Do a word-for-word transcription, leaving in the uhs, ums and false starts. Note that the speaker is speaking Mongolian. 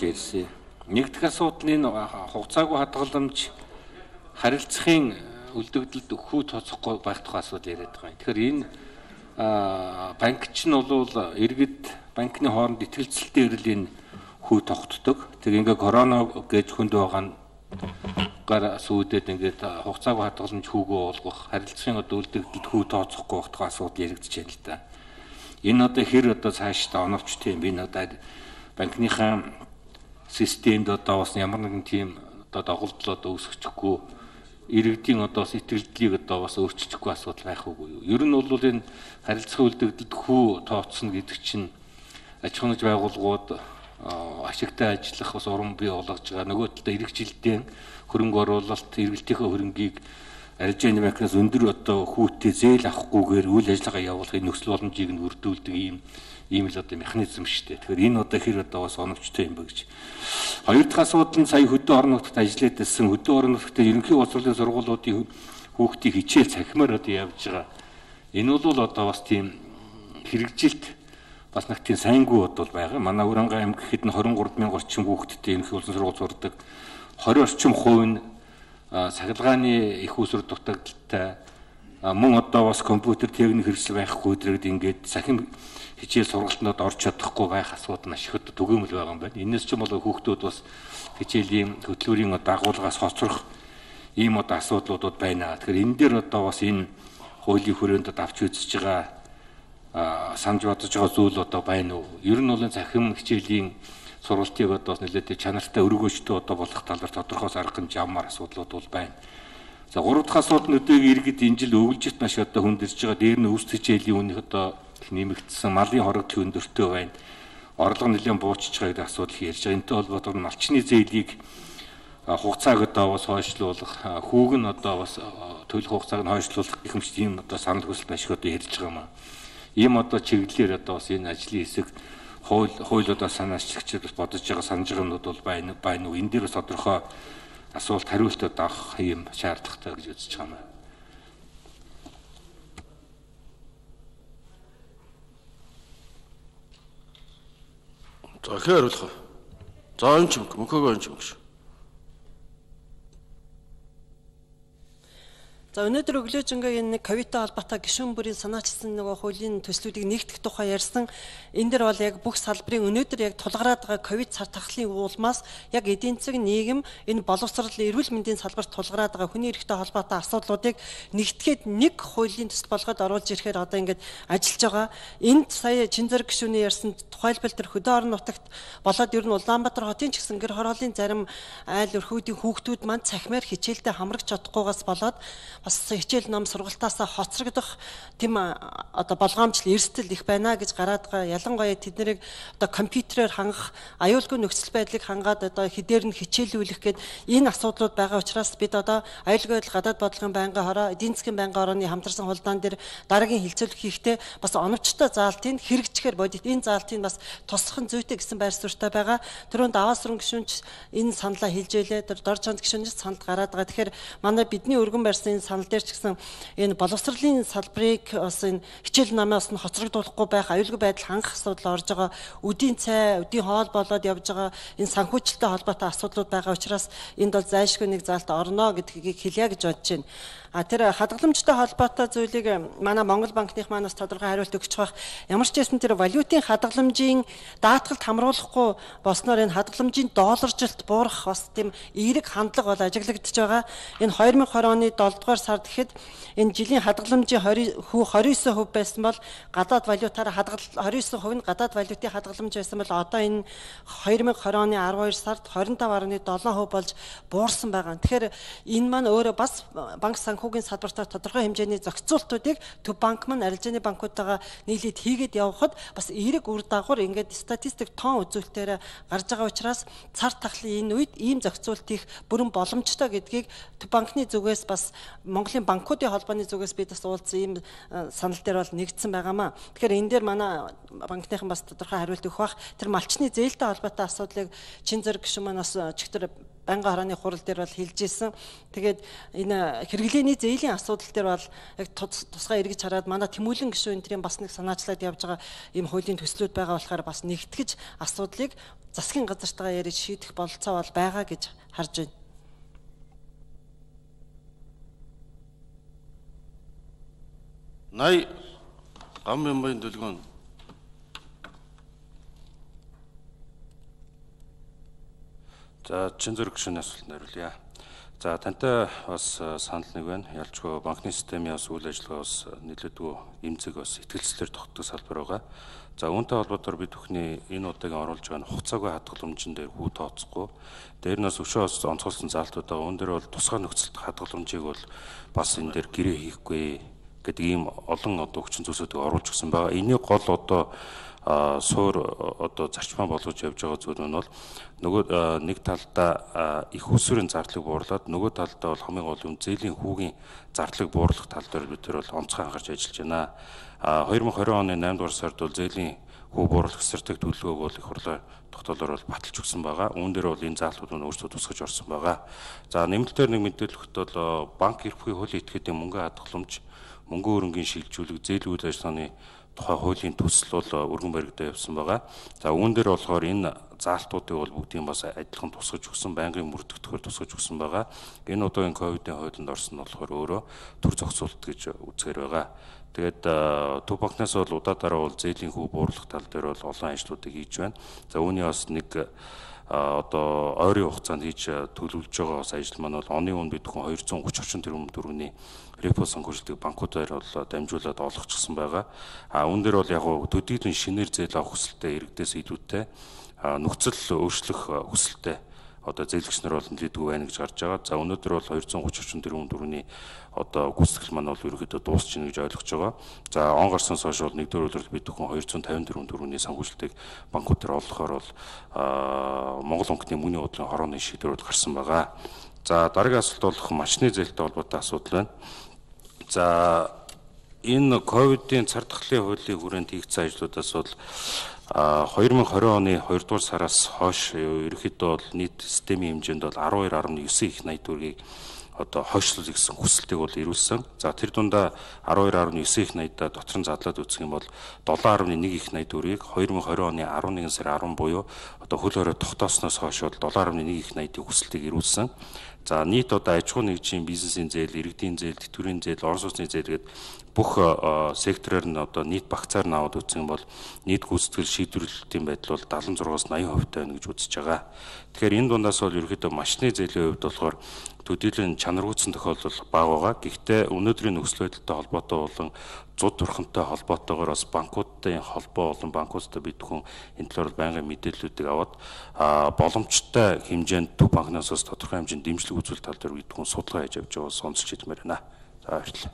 ирсэн. Нэгдүгээр асуудал нь хугацаагүй хадгаламж харилцахын үлдэгдэлд хүү тооцохгүй байх тухай асуудал яриад байгаа. Тэгэхээр энэ банкч нь бол иргэд банкны хооронд итгэлцэлтэй ирэл энэ хүү тогтдог. Тэг ингээ корона гэж хүнд байгаа нь гар сүйдэд ингээд хугацаагүй хадгаламж хүүгөө болгох харилцахын одоо үлдэгдэлд хүү тооцохгүй байх тухай асуудал яригдж байна л да. Энэ одоо хэр одоо цаашдаа оновчтой юм бэ? Энэ одоо банкныхаа системд одоо бас ямар нэгэн тийм одоо доголдол одоо үүсгэхгүй иргэдийн одоо сэтгэлдлийг одоо бас өөрчилчихгүй асуудал байх уугүй юу? Ер нь бол энэ харилцах үлдэгдэлд хүү тооцно гэдэг чинь аж ахуйн байгууллагууд ашигтай ажиллах бас уран бий болгож байгаа. Нөгөө талдаа иргэжилтийн хөрөнгө оруулалт, эргэлтийнхээ хөрөнгийг арилжааны банкнаас өндөр одоо хүүтэй зээл авахгүйгээр үйл ажиллагаа явуулахын нөхцөл боломжийг нь бүрдүүлдэг ийм ийм л одоо механизм шүү дээ. Тэгэхээр энэ одоо хэр одоо бас оновчтой юм бэ гэж. Хоёр дахь асуудал нь сая хөдөө орон нутагт ажиллаад байсан хөдөө орон нутагт ерөнхий боловсролын сургуулиудын хүүхдийг хичээл цахимаар одоо явж байгаа. Энэ бол одоо бас тийм хэрэгжилт бас нэг тийм сайнгүй бодвол байгаа. Манай Уранга аймаг гэхэд нь двадцать три мянган орчим хүүхэдтэй ерөнхий боловсролын сургууль сурдаг. двадцать орчим хувь нь сахилгааны их усүр дутагдaltaй мөн одоо бас компьютер техник хэрэгсэл байхгүй дэрэгд ингээд сахим хичээл сургалтанд орж чадахгүй байх асуудал нь ашигт түгээмэл байгаа юм байна. Энэс ч юм бол хүүхдүүд бас хичээлийн хөтөлбөрийн одоо агуулгаас хоцрох ийм одоо асуудлуудад байна. Тэгэхээр энэ дээр одоо бас энэ хуулийн хүрээнд авч үзэж байгаа санаж бодож байгаа зүйл одоо байна уу? Ер нь бол захим хичээлийн сургалтыг одоо нэлээд чанартай өргөөжтэй одоо болох талаар тодорхой арга хэмжээ ямар асуудлууд бол байна. За гурав дахь асуудал нь өдөөг иргэд энэ жил өвлжит маш одоо хүндэрж байгаа. Дээр нь үс хичээлийн үнэх одоо нэмэгдсэн, малын хорог өндөртэй байна. Орлого нэлээд буучж байгаа гэдэг асуудал ярьж байгаа. Энэтэй холбоотойгоор малчны зээлийг хугацааг одоо бас хойшлуулах, хүүг нь одоо бас төлөх хугацааг нь хойшлуулах гэх мэт ийм одоо санал хүсэлт ашиг одоо ярьж байгаа юм аа. Ийм одоо чиглэлээр одоо бас энэ ажлын хэсэг хууль хууль одоо санаачлагчид бас бодож байгаа санаж байгаанууд бол байна байна уу? Энэ дээр бас тодорхой асуулт хариултад авах юм шаардлагатай гэж үзэж байгаа юм. За хэр хариулах вэ? За энэ ч юм мөхөөгөө энэ ч юм гэж. За өнөөдөр өглөөжингээ энэ ковидтай холбоотой гишүүн бүрийн санаачилсан нөгөө хуулийн төслүүдийг нэгтгэх тухай ярьсан. Энэ дэр бол яг бүх салбарын өнөөдөр яг тулгараад байгаа ковид цар тахлын улмаас яг эдийн засаг нийгэм энэ боловсрол эрүүл мэндийн салбарт тулгараад байгаа хүний эрхтэй холбоотой асуудлуудыг нэгтгэхэд нэг хуулийн төсөл болгоод оруулж ирэхээр одоо ингээд ажиллаж байгаа. Энд сая Чинзэр гишүүний ярьсан тухайлбал тэр хөдөө орон нутагт болоод ер нь Улаанбаатар хотын ч гэсэн гэр хорооллын зарим айл өрхүүдийн хүүхдүүд маань цахимаар хичээлдээ хамрагч чадахгүйгаас болоод бас хичээл ном сургалтаасаа хоцрогдох тийм одоо болгоомжл эрсдэл их байна гэж гараад байгаа. Ялангуяа тэднийг одоо компьютерээр хангах, аюулгүй нөхцөл байдлыг хангаад одоо хэдээр нь хичээлүүлэх гээд энэ асуудлууд байгаа учраас бид одоо аюулгүй байдал гадаад бодлогын байнгын хороо, эдийн засгийн байнгын хорооны хамтарсан хулдаан дээр дараагийн хилцүүлэг хийхдээ бас оновчтой заалтыг хэрэгжихээр бодит энэ заалтыг бас тусахын зүйтэй гэсэн байр суурьтай байгаа. Түрүүнд аваас руу гишүүнч энэ саналаа хэлж байлээ. Тэр дор чонд гишүүнээс санал гараад байгаа. Тэгэхээр манай бидний өргөн барьсан санал дээр ч гэсэн энэ боловсролын салбарыг бас энэ хичээл намаас нь хоцрогдуулахгүй байх, аюулгүй байдал хангах асуудал орж байгаа. Үдийн цай, үдийн хоол болоод явж байгаа энэ санхүүжилттэй холбоотой асуудлууд байгаа учраас энд бол зайлшгүй нэг заалт орно гэдгийг хэлье гэж бодож байна. А тэр хадгаламжтай холбоотой зүйлийг манай Монгол банкных манаас тодорхой хариулт өгч байгаа. Ямар ч байсан тэр валютын хадгаламжийн даатгалд хамруулахгүй болсноор энэ хадгаламжийн долларжилт буурах бас тийм эерэг хандлага бол ажиглагдж байгаа. Энэ две тысячи двадцать оны долдугаар сард гэхэд энэ жилийн хадгаламжийн двадцать и девять хувь байсан бол гадаад валютаар хадгал двадцать и девять хувь нь гадаад валютын хадгаламж байсан бол одоо энэ две тысячи двадцать оны twelve сард twenty-five point seven хувь болж буурсан байгаа. Тэгэхээр энэ маань өөрөө бас банк санхүүгийн салбартаа тодорхой хэмжээний зохицуултуудыг төв банк маань арилжааны банкудтайгаа нийлээд хийгээд явхад бас эерэг үр дагавар ингээд статистик тоон үзүүлэлтээр гарч байгаа учраас цар тахлын энэ үед ийм зохицуулт их бүрэн боломжтой гэдгийг төв банкны зүгээс бас Монголын банкуудын холбооны зүгээс бид бас уулзсан ийм санал дээр бол нэгдсэн байгаамаа. Тэгэхээр энэ дээр манай банкныхан бас тодорхой хариулт өгөх бах. Тэр малчны зээлтэй холбоотой асуудлыг Чинзэр гишүүн маань бас чигтэр байнгын хорооны хурал дээр бол хэлж ирсэн. Тэгээд энэ хэрэглээний зээлийн асуудал дээр бол яг тусгай эргэж хараад манай Тэмүүлэн гишүүн энтрийн бас нэг санаачлаад явж байгаа ийм хуулийн төслүүд байгаа болохоор бас нэгтгэж асуудлыг засгийн газартайгаа ярьж шийдэх бололцоо бол байгаа гэж харж байна. Най гам ямбайн дэлгүүн. За чин зэрэг гүшүүний асуултанд хариулъя. За тантай бас санал нэг байна. Ялчгүй банкны системийн бас үйл ажиллагаа бас нэлээдгүй эмзэг бас итгэлцлэр тогтдог салбар байгаа. За үүнтэй холбоотойгоор бид бүхний энэ удаагийн оруулж байгаа хугацаагүй хадгаламжин дээр хүү тооцохгүй. Дээр нь бас өшөө бас онцгойлсон заалтууд байгаа. Үүн дээр бол тусгай нөхцөлт хадгаламжийг бол бас энэ дээр гэрээ хийхгүй гэдэг ийм олон одоо хүчин зүйлсүүдийг оруулж өгсөн байгаа. Энийг гол одоо суур одоо зарчмаа болгож явж байгаа зүйл нь бол нөгөө нэг талдаа их усүрийн зардлыг буурлаад нөгөө талдаа бол хамгийн гол юм зээлийн хүүгийн зардлыг буурлах тал дээр бид тэр бол онцгой анхаарч ажиллаж байна. хоёр мың двадцать оны наймдугаар сард бол зээлийн хүү буурлах стратеги төлөвлөгөөг бол их хурлаар тогтоолоор бол баталж өгсөн байгаа. Үүн дээр бол энэ заалтууд нь өөрсдөө тусгаж орсон байгаа. За нэмэлтээр нэг мэдээлэлт бол банк эрхлэхийн хуулийн этгээдийн мөнгө хадгаламж, мөнгө өрөнгийн шилжүүлэг, зээлийн үйл ажиллагааны тухай хуулийн төсөл бол өргөн баригдаа явсан байгаа. За үүн дээр болохоор энэ заалтуудыг бол бүгдийг бас адилхан тусгаж өгсөн, байнгын мөрдөгдөхөөр тусгаж өгсөн байгаа. Энэ удаагийн ковидын хуулинд орсон нь болохоор өөрөө төр зохицуулт гэж үзэхээр байгаа. Тэгээд төв банкнаас бол удаадараа бол зээлийн хүү буурлах тал дээр бол олон ажлуудыг хийж байна. За үүний бас нэг одоо ойрын хугацаанд хийж төлөвлөж байгаа бас ажил маань бол оны үн бид хүн двести тридцать тэрбум төгрөгийн репо санхүүжилтийг банкудаар бол дамжуулаад олгочихсон байгаа. А үүн дээр бол яг төдийдэн шинээр зээл авах хүсэлтэй иргэдээс илүүтэй нөхцөл өөрчлөх хүсэлтэй одоо зээлгч нар бол нэлээдгүй байна гэж гарч байгаа. За өнөөдөр бол двести тридцать тэрбум төгрөгийн одоо гүйцэтгэл маань бол ерөөхдөө дуусчихна гэж ойлгож байгаа. За он гарсанаас хойш бол нэгдүгээр өдрөд бид бүхэн двести пятьдесят тэрбум төгрөгийн санхүүжилтийг банкудаар олгохоор бол Монгол банкны мөнгөний бодлогын хорооны шийдвэрүүд гарсан байгаа. За дараагийн асуулт бол машины зээлтэй холбоотой асуудал байна. За энэ ковидын цар тахлын хуулийн хүрээнд хийгдсэн ажлуудаас бол хоёр мың двадцать оны хоёрдугаар сараас хойш ерөнхийдөө бол нийт системийн хэмжээнд бол twelve point nine их найд төгрөгийг одоо хойшлуулах гэсэн хүсэлтийг бол ирүүлсэн. За тэр дундаа twelve point nine их найдаа дотор нь задлаад үзэх юм бол seven point one их найд төгрөгийг two thousand twenty оны eleven сарын ten буюу одоо хөл хорой тогтоосноос хойш бол seven point one их найдын хүсэлтийг ирүүлсэн. За нийт одоо аж ахуй нэгжийн бизнесийн зээл, иргэдийн зээл, тэтгэврийн зээл, орон сууцны зээл гэдэг бүх сектороор нь одоо нийт багцаар нь аваад үзэх юм бол нийт гүйцэтгэл шийдвэрлэлтийн байдал бол seventy-five-аас eighty хувьтай байна гэж үзэж байгаа. Тэгэхээр энэ дундаас бол ерөөхдөө машины зээлийн хувьд болохоор төдийлөн чанаргүйцэн тохиолдол бага байгаа. Гэхдээ өнөөдрийн нөхцөл байдалтай холбоотой болон зуд турхантай холбоотойгоор бас банкуудын холбоо болон банкуудтай бид бүхэн энэ талаар байнгын мэдээллүүдийг аваад боломжтой хэмжээнд төв банкнаас бас тодорхой хэмжээнд дэмжлэг үзүүлэлт тал дээр бид бүхэн судалгаа хийж явж байгаа сонсч хэлмээр байна. За баярлалаа.